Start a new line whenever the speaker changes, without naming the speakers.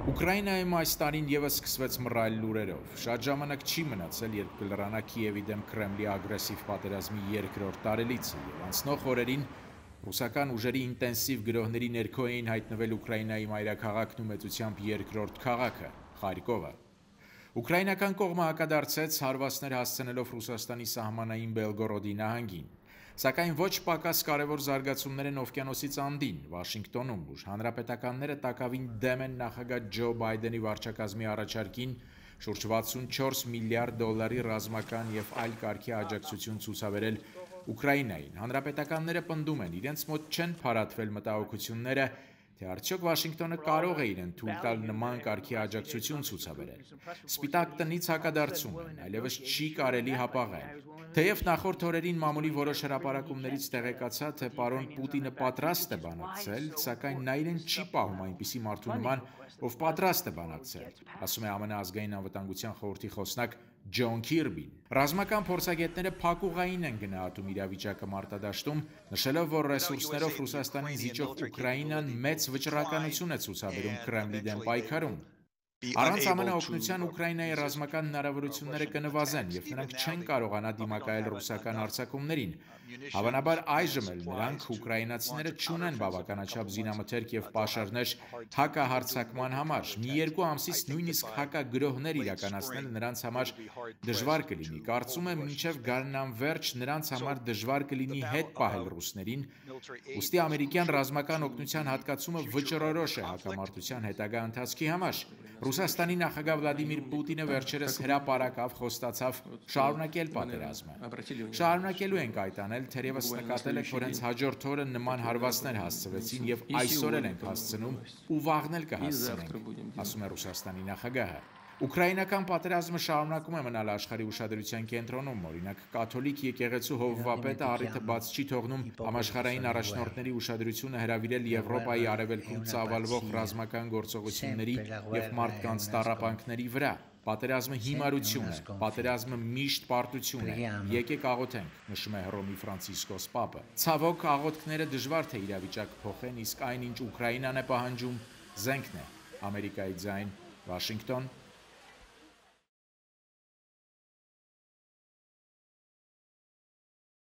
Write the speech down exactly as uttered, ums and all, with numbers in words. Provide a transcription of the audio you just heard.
Ուկրաինայում այս տարին ևս սկսվեց մռայլ լուրերով։ Շատ ժամանակ չի մնացել, երբ կլրանա Կիևի դեմ Կրեմլի ագրեսիվ պատերազմի երկրորդ տարելիցը, եւ անցնող օրերին ռուսական ուժերի ինտենսիվ գրոհների ներքո էին հայտնվել Ուկրաինայի մայրաքաղաքն ու մեծությամբ երկրորդ քաղաքը՝ Խարկովը։ Ուկրաինական կողմը հակադարձեց, հարվածներ հասցնելով Ռուսաստանի սահմանային Բելգորոդի նահանգին։ Սակայն ոչ պակաս կարևոր զարգացումներ են օվկիանոսից անդին, Վաշինգտոնում, ուր հանրապետականները տակավին դեմ են նախագահ Ջո Բայդենի վարչակազմի առաջարկին շուրջ վաթսունչորս միլիարդ դոլարի ռազմական եւ այլ կարգի աջակցություն ցուցաբերել Ուկրաինային։ Հանրապետականները պնդում են, իրենց մոտ չեն փարատվել մտահոգությունները, թե արդյոք Վաշինգտոնը կարող է իրեն թույլ տալ նման կարգի աջակցություն ցուցաբերել։ Սպիտակ տնից հակադարձում են, այլևս չի կարելի հապաղել։ Թեև նախորդ օրերին մամուլի որոշ հրապարակումներից տեղեկացա, թե պարոն Պուտինը պատրաստ է բանակցել, սակայն նա իրեն չի պահում այնպիսի մարդու նման, ով պատրաստ է բանակցել, ասում է ԱՄՆ ազգային անվտանգության խորհրդի խոսնակ Ջոն Քիրբին։ Ռազմական փորձագետները փակուղային են գնահատում իրավիճակը մարտադաշտում, նշելով, որ ռեսուրսներով Ռուսաստանին զիջող Ուկրաինան մեծ վճռականություն է ցուցաբերում Կրեմլի դեմ պայքարում։ Առանց ԱՄՆ օգնության Ուկրաինայի ռազմական հնարավորությունները կնվազեն, եւ նրանք չեն կարողանա դիմակայել ռուսական հարձակումներին։ Հավանաբար այժմ էլ նրանք ուկրաինացիները չունեն բավականաչափ զինամթերք եւ պաշարներ հակահարձակման համար։ Մի երկու ամսից նույնիսկ հակագրոհներ իրականացնելը նրանց համար դժվար կլինի։ Կարծում եմ, մինչև գարնան վերջ նրանց համար դժվար կլինի հետ պահել ռուսներին։ Ուստի ամերիկյան ռազմական օգնության հատկացումը վճռորոշ է հակամարտության հետագա ընթացքի համար։ Ռուսաստանի նախագահ Վլադիմիր Պուտինը վերջերս հրապարակավ խոստացավ շարունակել պատերազմը։ Շարունակելու ենք այդ անել, թերևս նկատել եք, որ հենց հաջորդ օրը նման հարվածներ հասցվեցին եւ այսօր էլ ենք հասցնում ու վաղն էլ կհասցնենք, ասում է Ռուսաստանի նախագահը։ Ուկրաինական պատերազմը շարունակում է մնալ աշխարհի ուշադրության կենտրոնում, օրինակ կաթոլիկ եկեղեցու հովվապետը առիթը բաց չի թողնում համաշխարհային առաջնորդների ուշադրությունը հրավիրել Եվրոպայի արևելքում ծավալվող ռազմական գործողությունների եւ մարդկանց տառապանքների վրա։ Պատերազմը հիմարություն է, պատերազմը միշտ պարտություն է։ Եկեք աղոթենք, նշում է Հռոմի Ֆրանցիսկոս Պապը։ Ցավոք աղոթքները դժվար թե իրավիճակ փոխեն, իսկ այնինչ Ուկրաինան է պահանջում, զենքն է։ Ամերիկայի ձայն, Վաշինգտոն,